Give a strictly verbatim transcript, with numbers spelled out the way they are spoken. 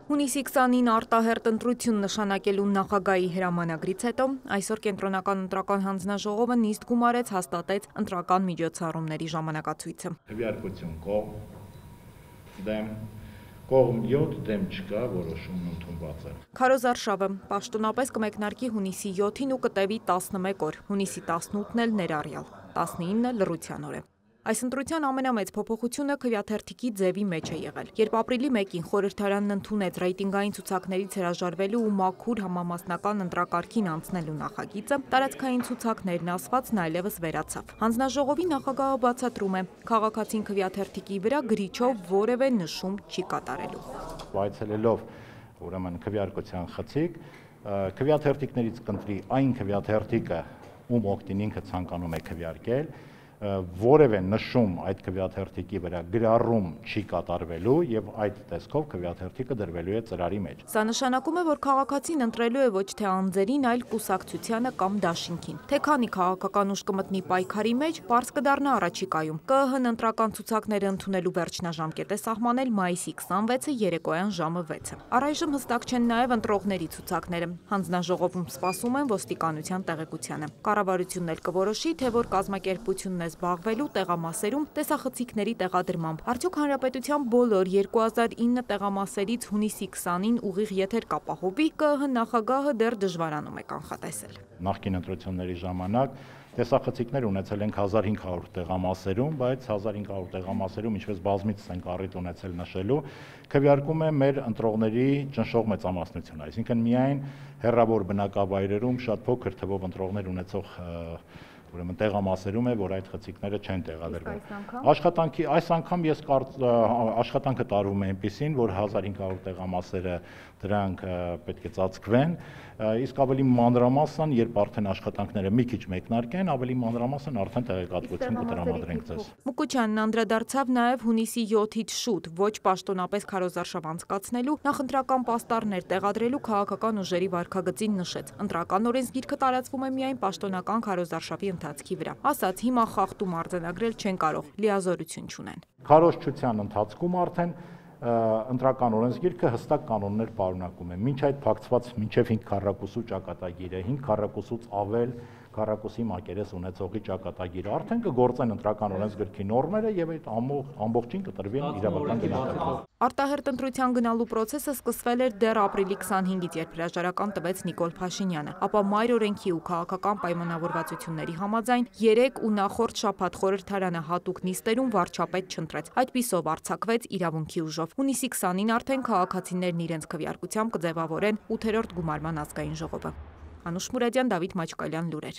Հունիսի քսանին արտահերտ ընտրություն նշանակելու նախագահի հրամանագրից հետո այսօր կենտրոնական ընտրական հանձնաժողովը նիստ գումարեց, հաստատեց ընտրական միջոցառումների ժամանակացույցը։ Քվեարկություն կողմ, դեմ, կողմ յոթ, դեմ չկա, որոշումն ընդունված է։ Քարոզ Արշավը պաշտոնապես կմեկնարկի հունիսի յոթին ու կտևի տասնմեկ օր, հունիսի տասնութն էլ ներառյալ, տասնինը լռության օր է։ Այս ընտրության ամենամեծ փոփոխությունը քվեաթերթիկի ձևի մեջ է եղել։ Երբ ապրիլի մեկին խորհրդարանն ընդունեց ռեյտինգային ցուցակներից հրաժարվելու ու մաքուր համամասնական ընտրակարգին անցնելու նախագիծը, տարածքային ցուցակներն ասվածն այլևս վերացավ։ Հանձնաժողովի նախագահը բացատրում է, քաղաքացին քվեաթերթիկի վրա գրիչով որևէ նշում չի կատարելու։ Այցելելով ուրեմն քվեարկության խցիկ, քվեաթերթիկներից կընտրի այն քվեաթերթիկը, ում օգտին ինքը ցանկանում է քվեարկել, որևէ նշում այդ քվեաթերթիկի վրա գրառում չի կատարվելու եւ այդ տեսքով քվեաթերթիկը դրվելու է ծրարի մեջ։ Սա նշանակում է, որ քաղաքացին ընտրելու է ոչ թե անձերին, այլ կուսակցությանը կամ դաշինքին։ Թե քանի քաղաքական ուժ կմտնի պայքարի մեջ, պարզ կդառնա առաջիկայում։ Կ ԸՀ ընտրական ցուցակները ընդունելու վերջնաժամկետ է սահմանել մայիսի քսանվեցը երեկոյան ժամը վեցը։ Առայժմ հստակ չեն նաեւ ընտրողների ցուցակները։ Հանձնաժողովում սպասում են ոստիկանության տեղեկությանը։ Կառավարությունն էլ կորոշի, թե որ կազմակերպությունն է զբաղվելու տեղամասերում տեսախցիկների տեղադրմամբ։ Արդյոք հանրապետության բոլոր երկու հազար ինը տեղամասերից հունիսի քսանին ուղիղ եթեր կապահովի, Կ ԸՀ նախագահը դեռ դժվարանում է կանխատեսել։ Նախկին ընտրությունների ժամանակ տեսախցիկներ ունեցել ենք հազար հինգ հարյուր տեղամասերում, բայց հազար հինգ հարյուր տեղամասերում, ինչպես բազմիցս ենք առիթ ունեցել նշելու, քվեարկում է մեր ընտրողների ճնշող մեծամասնությունը, այսինքն միայն հեռավոր բնակավայրերում շատ փոքր թվով ընտրողներ ունեցող ուրեմն տեղամասերում է, որ այդ խցիկները չեն տեղադրվում։ Աշխատանքի այս անգամ ես աշխատանքը տարվում է այնպեսին, որ հազար հինգ հարյուր տեղամասերը դրանք պետք է ծածկվեն, իսկ ավելի մանրամասն, երբ արդեն աշխատանքները մի քիչ մեկնարկեն, ավելի մանրամասն արդեն տեղեկատվություն կտրամադրենք ձեզ։ Մուկուչյանն անդրադարձավ նաև հունիսի յոթից շուտ ոչ պաշտոնապես քարոզարշավ անցկացնելու, նախընտրական պաստառներ տեղադրելու քաղաքական ուժերի վարքագծին նշեց։ Ընտրական օրենսգիրքը տարածվում է միայն պաշտոնական քարոզարշավի ընթացքի վրա։ Ասաց, հիմա խախտում արձանագրել չեն կարող, լիազորություն չունեն։ Քարոզչության ընթացքում արդեն ընտրական օրենսգիրքը հստակ կանոններ պարունակում է։ Մինչ այդ փակցված մինչև հինգ քառակուսու ճակատագիրը, հինգ քառակուսուց ավել քառակուսի մակերես ունեցողի ճակատագիրը արդեն կգործեն ընտրական օրենսգրքի նորմերը եւ այդ ամբողջին կտրվեն իրավական գնահատականը։ Արտահերտ ընտրության գնալու process-ը սկսվել էր դեռ ապրիլի քսանհինգից, երբ հրաժարական տվեց Նիկոլ Փաշինյանը, ապա մայր օրենքի ու քաղաքական պայմանավորվածությունների համաձայն երեք ու նախորդ շաբաթ խորհրդարանը հատուկ նիստերում վարչապետ չընտրեց։ Այդպիսով արձակվեց իրավունքի ուժով։ Հունիսի քսանին արդեն քաղաքացիներն իրենց քվեարկությամբ կձևավորեն ութերորդ գումարման ազգային ժողովը։ Անուշ Մուրադյան, Դավիթ Մաչկալյան, լուրեր։